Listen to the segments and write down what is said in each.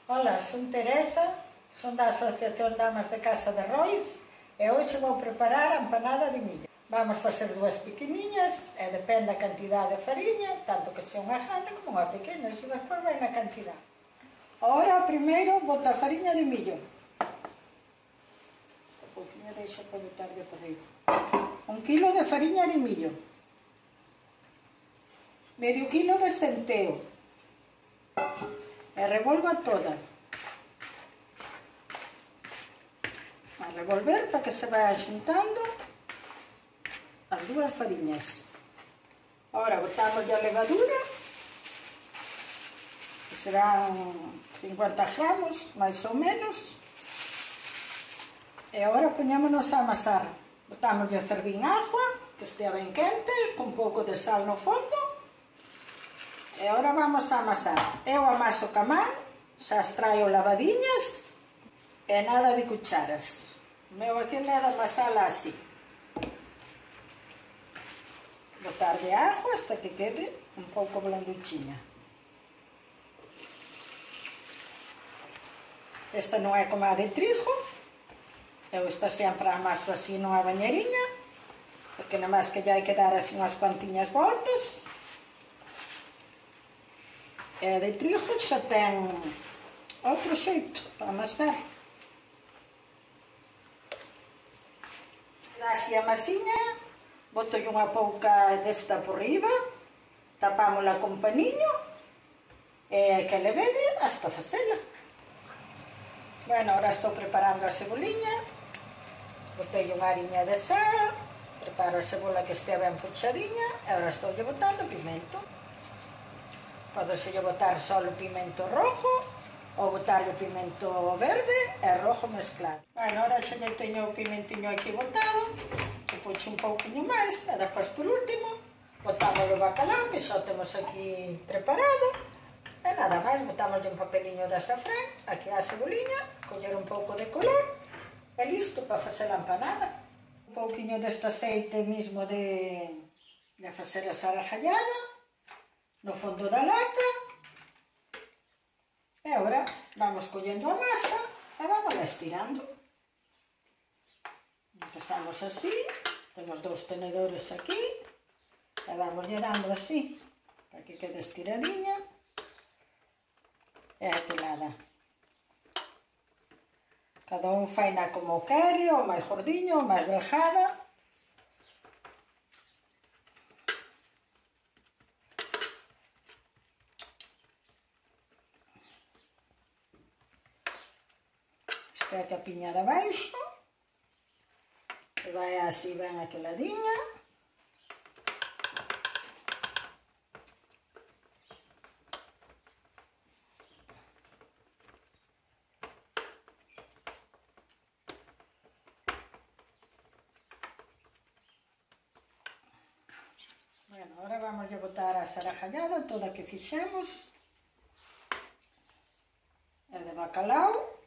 Ola, son Teresa, son da Asociación Damas de Casa de Rois e hoxe vou preparar a empanada de milla. Vamos facer dúas pequeniñas e depende da cantidade de fariña, tanto que sea unha grande como unha pequena, iso despois vai na cantidade. Ahora, primeiro, bota a fariña de millo. Esta pouquinha deixo para botarlle por aí. 1 kilo de fariña de millo. Medio kilo de centeo. E revolva toda. A revolver para que se vayan xuntando as dúas fariñas. Ahora botamos a levadura, que serán 50 gramos, máis ou menos. E agora poñémonos a amasar. Botamos a fervir agua, que estea ben quente, con pouco de sal no fondo. E agora vamos a amasar. Eu amaso ca man, xa as traio lavadiñas e nada de cucharas. O meu aquí é de amasala así. Botar de agua hasta que quede un pouco blanduchiña. Esta non é como a de trigo. Eu esta sempre amaso así nunha bañeriña, porque nomás que lle hai que dar así unhas cuantiñas voltas. E a de trigo xa ten outro xeito para amasar. Dá así a masiña, boto unha pouca desta por riba, tapámola con paniño e que le vede hasta facela. Bueno, ahora estou preparando a ceboliña, botei unha ariña de sal, preparo a cebola que estea ben pochadiña e agora estou botando pimento. Podeselle botar só o pimento rojo ou botarlle pimento verde e rojo mezclado. Bueno, ahora xa lle teño o pimentiño aquí botado, que puxo un pouquinho máis, e depois por último botamos o bacalao que xa temos aquí preparado e nada máis, botamos un papeliño de azafrán aquí á ceboliña, coller un pouco de color e listo para facer a empanada. Un pouquinho deste aceite mismo de facer a sarajallada no fondo da lata e agora vamos collendo a masa e vamos estirando. Empezamos así, temos 2 tenedores aquí e vamos dando así para que quede estiradiña e aquilada. Cada un faina como quere, ou máis gordiño ou máis delgada. A capiña de abaixo e vai así ben aqueladinha. Bueno, agora vamos a botar a sarajallada toda que fixemos e de bacalao.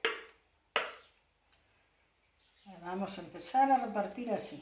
Vamos a empezar a repartir así.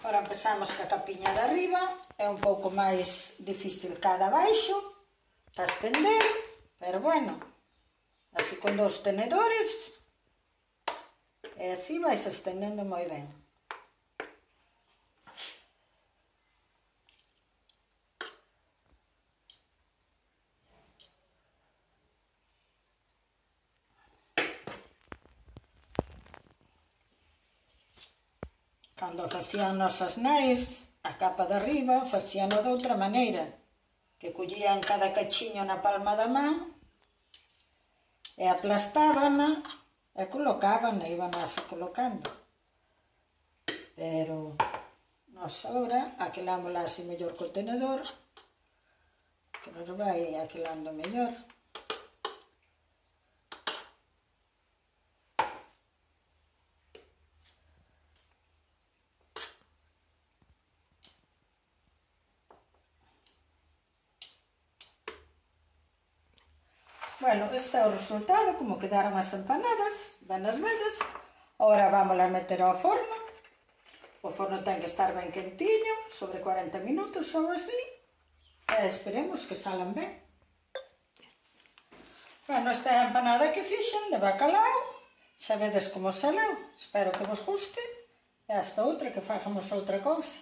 Agora empezamos ca capiña de arriba, é un pouco máis difícil ca de abaixo para estender, pero bueno, así con 2 tenedores e así vais estendendo moi ben. Cando facían nosas nais, a capa de arriba facíano de outra maneira, que collían cada cachiño na palma da man e aplastábana e colocábana, iban así colocando. Pero Nos ahora aquelámosla así mellor co tenedor, que nos vai aquelando mellor. Bueno, este é o resultado, como quedaron as empanadas, ben as vedes. Agora vamos a meter ao forno. O forno ten que estar ben quentiño, sobre 40 minutos ou así. E esperemos que salan ben. Bueno, esta é a empanada que fixen de bacalao. Xa vedes como saleu. Espero que vos guste. E hasta outra, que fagamos outra cousa.